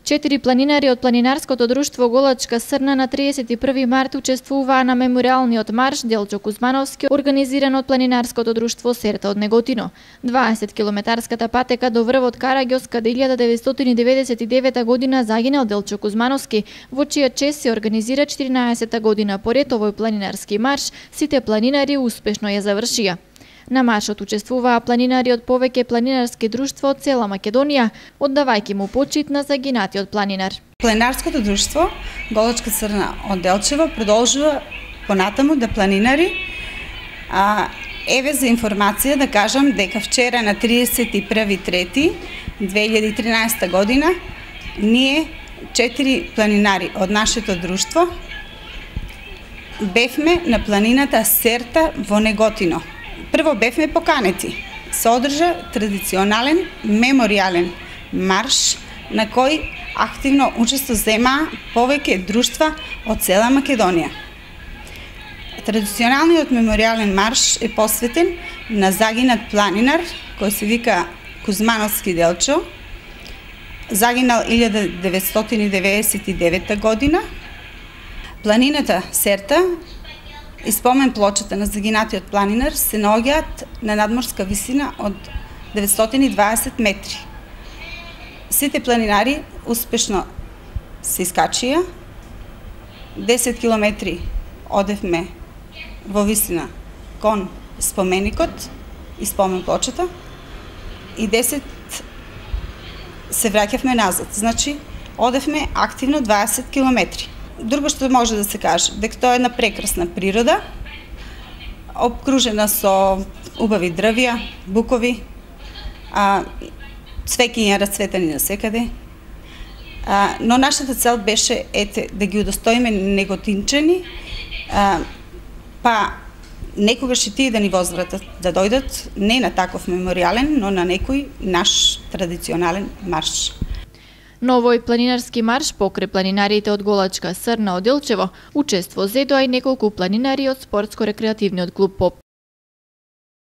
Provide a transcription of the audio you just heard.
4 планинари од планинарското друштво Голачка Срна на 31 март учествуваа на мемориалниот марш Делчо Кузмановски, организиран од планинарското друштво Серта од Неготино. 20 километарската патека до врвот Караѓос, каде 1999 година загинал Делчо Кузмановски, во чија чест се организира 14 година поред овој планинарски марш, сите планинари успешно ја завршија. На маршот учествуваа планинари од повеќе планинарски друштва од цела Македонија, оддавајќи му почит на загинатиот планинар. Планинарското друштво Голачка Срна од Делчево продолжува понатаму да планинари. Еве за информација да кажам дека вчера на 31.3.2013 година ние 4 планинари од нашето друштво бевме на планината Серта во Неготино. Прво бевме поканети. Се одржа традиционален мемориален марш на кој активно учество земаа повеќе друштва од цела Македонија. Традиционалниот мемориален марш е посветен на загинат планинар кој се вика Кузмановски Делчо. Загинал 1999 година. Планината Серта и спомен плочата на загинатиот планинар се наоѓаат на надморска висина од 920 метри. Сите планинари успешно се искачија. 10 километри одевме во висина кон споменикот и спомен плочата и 10 се враќавме назад. Значи, одевме активно 20 километри. Друго што може да се каже, дека тоа е една прекрасна природа, обкружена со убави дрвја, букови, цвеќиња расцветани насекаде. Но нашата цел беше да ги удостоиме неготинчани, па некогаш и тие да ни возвратат, да дојдат не на таков мемориален, но на некој наш традиционален марш. На овој планинарски марш покрај планинарите од Голачка Срна од Делчево учество зедоа и неколку планинари од спортско-рекреативниот клуб ПОП.